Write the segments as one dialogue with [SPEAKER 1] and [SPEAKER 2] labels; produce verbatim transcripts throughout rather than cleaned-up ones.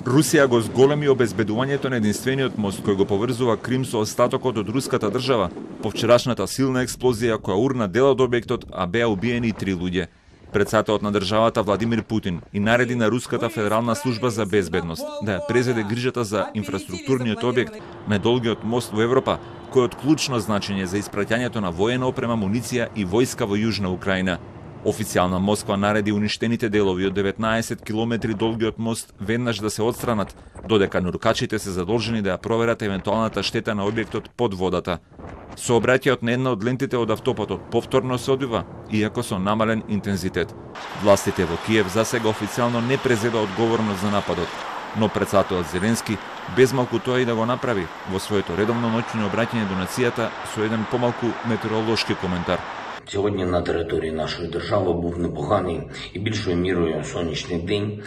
[SPEAKER 1] Русија го зголеми обезбедувањето на единствениот мост кој го поврзува Крим со остатокот од руската држава по вчерашната силна експлозија која урна дел од објектот, а беа убиени и три луѓе. Председателот на државата Владимир Путин и нареди на Руската федерална служба за безбедност да ја презеде грижата за инфраструктурниот објект, најдолгиот мост во Европа, кој е од клучно значење за испраќањето на воена опрема, муниција и војска во Јужна Украина. Официјална Москва нареди уништените делови од деветнаесет километри долгиот мост веднаш да се отстранат, додека нуркачите се задолжени да ја проверат евентуалната штета на објектот под водата. Сообраќајот на една од лентите од автопатот повторно се одвива, иако со намален интензитет. Властите во Киев засега официјално не презеда одговорност за нападот, но председателот Зеленски без малку тоа и да го направи во своето редовно ноќно обраќање до нацијата со еден помалку метеоролошки коментар.
[SPEAKER 2] Сьогодні на території нашої держави був непоганий і більшою мірою сонячний день.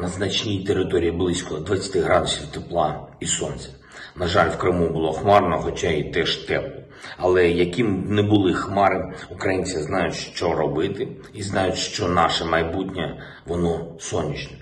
[SPEAKER 2] На значній території близько двадцять градусів тепла і сонця. На жаль, в Криму було хмарно, хоча і теж тепло. Але яким б не були хмари, українці знають, що робити і знають, що наше майбутнє, воно сонячне.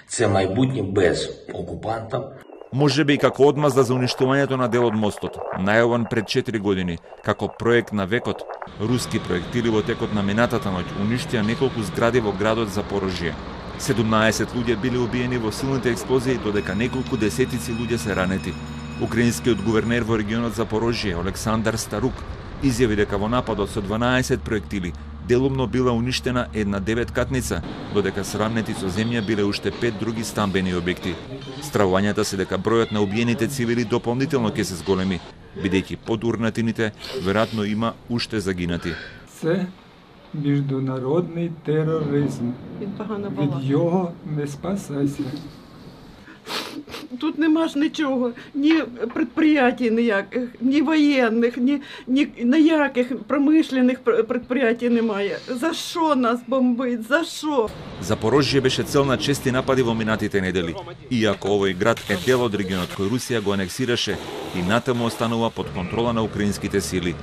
[SPEAKER 2] Це майбутнє без окупанта.
[SPEAKER 1] Можеби и како одмазда за уништувањето на дел од мостот, најавен пред четири години, како проект на векот, руски проектили во текот на минатата ноќ уништија неколку згради во градот Запорожје. седумнаесет луѓе биле убиени во силните експлозии, додека неколку десетици луѓе се ранети. Украинскиот гувернер во регионот Запорожје, Александар Старук, изјави дека во нападот со дванаесет проектили делумно била уништена една деветкатница, додека срамнети со земја биле уште пет други стамбени објекти. Стравувањата се дека бројот на убиените цивили дополнително ќе се зголеми, бидејќи под урнатините веројатно има уште загинати.
[SPEAKER 3] Це міжнародний тероризм. Від його не спасайся.
[SPEAKER 4] Тут нема ж нічого, ні предприятий ніяких, ні воєнних, ні, ні ніяких промишлених предприятий немає. За що нас бомбить? За що?
[SPEAKER 1] Запорожје беше цел на чести напади во минатите недели, иако овој град е дел од регионот кој Русија го анексираше и натаму останува под контрола на украинските сили.